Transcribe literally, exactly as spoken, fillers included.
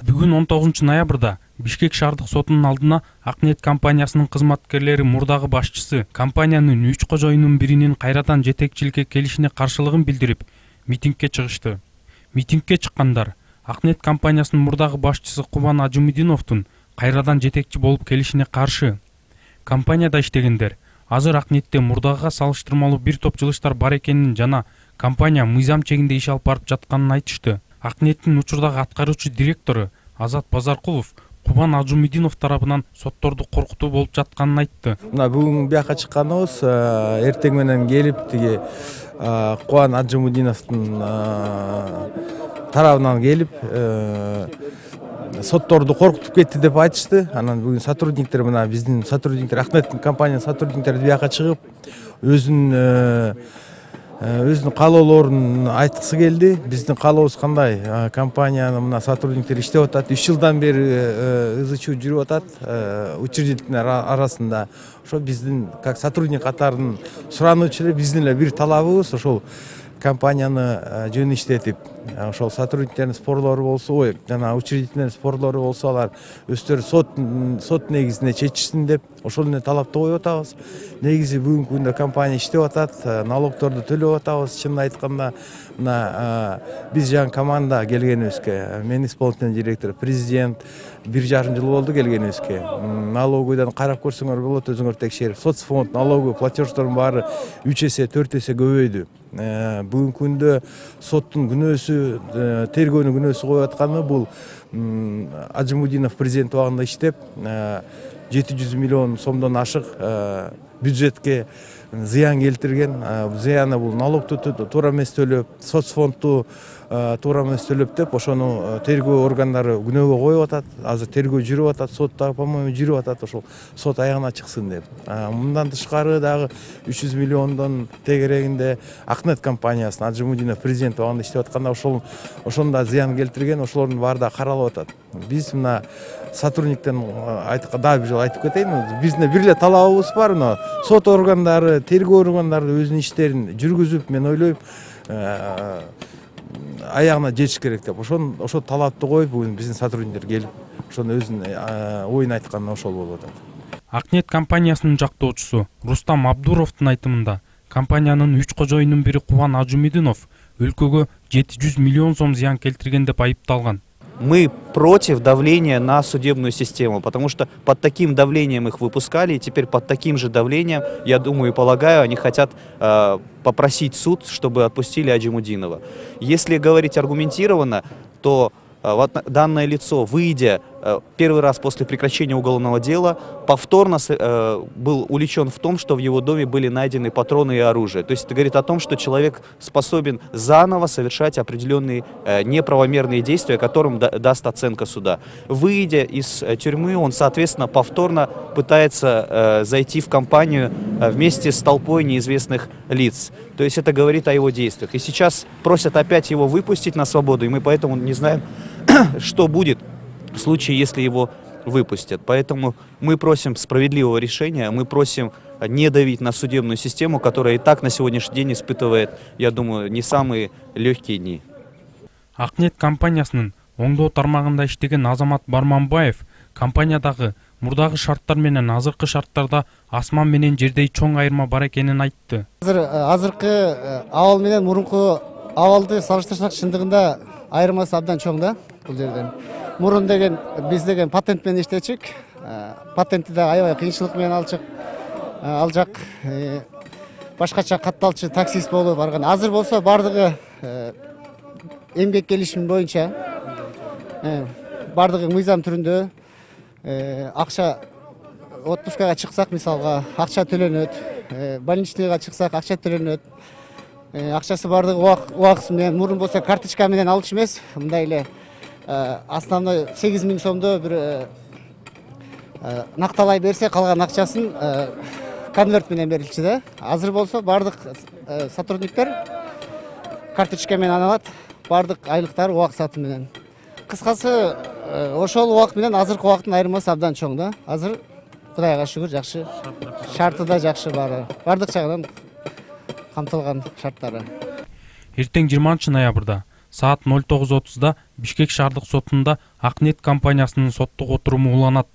Бүгүн он тогузунчу ноябрда Бишкек шаардык сотунун алдына Акнет компаниясынын кызматкерлери мурдагы башчысы компаниянын үч кожоюнун биринин кайрадан жетекчиликке келишине каршылыгын билдирип, митингге чыгышты. Митингге чыккандар Акнет компаниясынын мурдагы башчысы Кубан Ажумидиновдун кайрадан жетекчи болуп келишине каршы. Компанияда иштегендер азыр Акнетте мурдагыга салыштырмалуу бир топ жылыштар бар экенин жана компания мыйзам чегинде иш алып барып жатканын айтышты. Акнеттин учурдагы аткаруучу директору Азат Базаркулов Кубан Ажумидинов тарабынан сотторду коркутуу болуп жатканын айтты. Мына бүгүн бияка чыкканыбыз эртең менен келип тиги Кубан Ажумидиновдун тарабынан келип сотторду коркутуп кетти деп айтышты. Анан бүгүн сотрудниктер мына биздин сотрудниктер Акнеттин компаниянын сотрудниктери бияка чыгып өзүнүн өзүнүн каалоолорун айткысы келди. Биздин каалообуз кандай? Компаниянын мына сотрудниктери иштеп атат. үч жылдан бери ызы чуу жүрүп атат учредитель арасында. Ошо биздин как сотрудник катарын сурануучу эле биздин эле бир талабыбыз ошол компанияны жөн иштетип, ошол сотрудниктердин спорлору болсо, ой, жана учредительдин спорлору болсо, алар өздөрү сот сот негизинде чечишсин деп ошол эле талапты коюп атабыз. Негизи бүгүнкү күндө компания иштеп атат, налогторду төлөп атабыз. Чынын айтканда, мына биз жаңы команда келгенибизге, мен исполнительный директор, президент бир жарым жыл болду келгенибизге. Налоговыйдан карап көрсөңөр болот, өзүңөр текшерип. Соцфонд, налоговый платеждордун баары үч эсе, төрт эсе көбөйдү. Бүгүнкү күндө соттун күнөөсү, тергөөнүн күнөөсү коюп атканы бул Ажумидинов президент убагында иштеп, жети жүз миллион сомдон ашык бюджетке зыян келтирген. Зыяны бул налогту туура эмес төлөп, соцфондду туура эмес төлөп деп, ошону тергөө органдары күнөөгө коюп атат. Азыр тергөө жүрүп атат, сотта, по-моему, жүрүп атат, ошол сот аягына чыксын деп. Мындан тышкары дагы үч жүз миллиондон тегерегинде Акнет компаниясынын Ажумидинов президент убагында иштеп атканда ошол ошондо зыян келтирген, ошолордун баары да каралып атат. Биз мына сотрудниктен дагы бир жолу айтып кетейин, биздин бир эле талабыбыз бар, мына сот органдары, тергөө органдары өзүнүн иштерин жүргүзүп, мен ойлойм, аягына жетиш керек деп. Ошон ошол талапты коюп, бүгүн биздин сотрудниктер келип, ошону өзүнүн оюн айтканы ошол болуп атат. Акнет компаниясынын жактоочусу Рустам Абдуровдун айтымында, компаниянын үч кожоюнун бири Кубан Ажумидинов өлкөгө жети жүз миллион сом зыян келтирген деп айыпталган. Мы против давления на судебную систему, потому что под таким давлением их выпускали, и теперь под таким же давлением, я думаю и полагаю, они хотят э, попросить суд, чтобы отпустили Ажумидинова. Если говорить аргументированно, то э, данное лицо, выйдя э, первый раз после прекращения уголовного дела, повторно э, был уличен в том, что в его доме были найдены патроны и оружие. То есть это говорит о том, что человек способен заново совершать определенные э, неправомерные действия, которым да, даст оценка суда. Выйдя из э, тюрьмы, он, соответственно, повторно пытается э, зайти в компанию э, вместе с толпой неизвестных лиц. То есть это говорит о его действиях. И сейчас просят опять его выпустить на свободу, и мы поэтому не знаем, что будет в случае, если его выпустят. Поэтому мы просим справедливого решения, мы просим не давить на судебную систему, которая и так на сегодняшний день испытывает, я думаю, не самые легкие дни. Акнет компаниясынын оңдоо тармагында иштеген Азамат Барманбаев компаниядагы мурдагы шарттар менен азыркы шарттарда асман менен жердей чоң айырма бар экенин айтты. Азыр азыркы абал менен мурунку абалды салыштырсак, чындыгында айырмасы абдан чоң да бул жерден. Мурун деген биз деген патент менен иштечик. Патентти да аябай кыйынчылык менен алчык. Алжак башкача катталчы таксист болуп барган. Азыр болсо бардыгы эмгек келишими боюнча бардыгы мыйзам түрүндө акча отпускага чыксак, мисалга акча төлөнөт, больничныйга чыксак акча төлөнөт. Акчасы бардыгы убакыт менен, мурун болсо карточка менен алчу эмес, мындай эле основной сегиз миң сомдо бир накталай берсе, калган акчасын конверт менен берилчү да. Азыр болсо бардык сотрудниктер карточка менен алат, бардык айлыктар убак саты менен. Кыскасы, ошол убакыт менен азыркы убакыттын айырмасы абдан чоң да. Азыр Кудайга шүгүр жакшы. Шарты да жакшы баары. Бардык жагынан камтылган шарттары. Эртең жыйырманчы ноябрда саат ноль тогуз отузда Бишкек шаардык сотунда Акнет компаниясынын соттук отуруму уланат.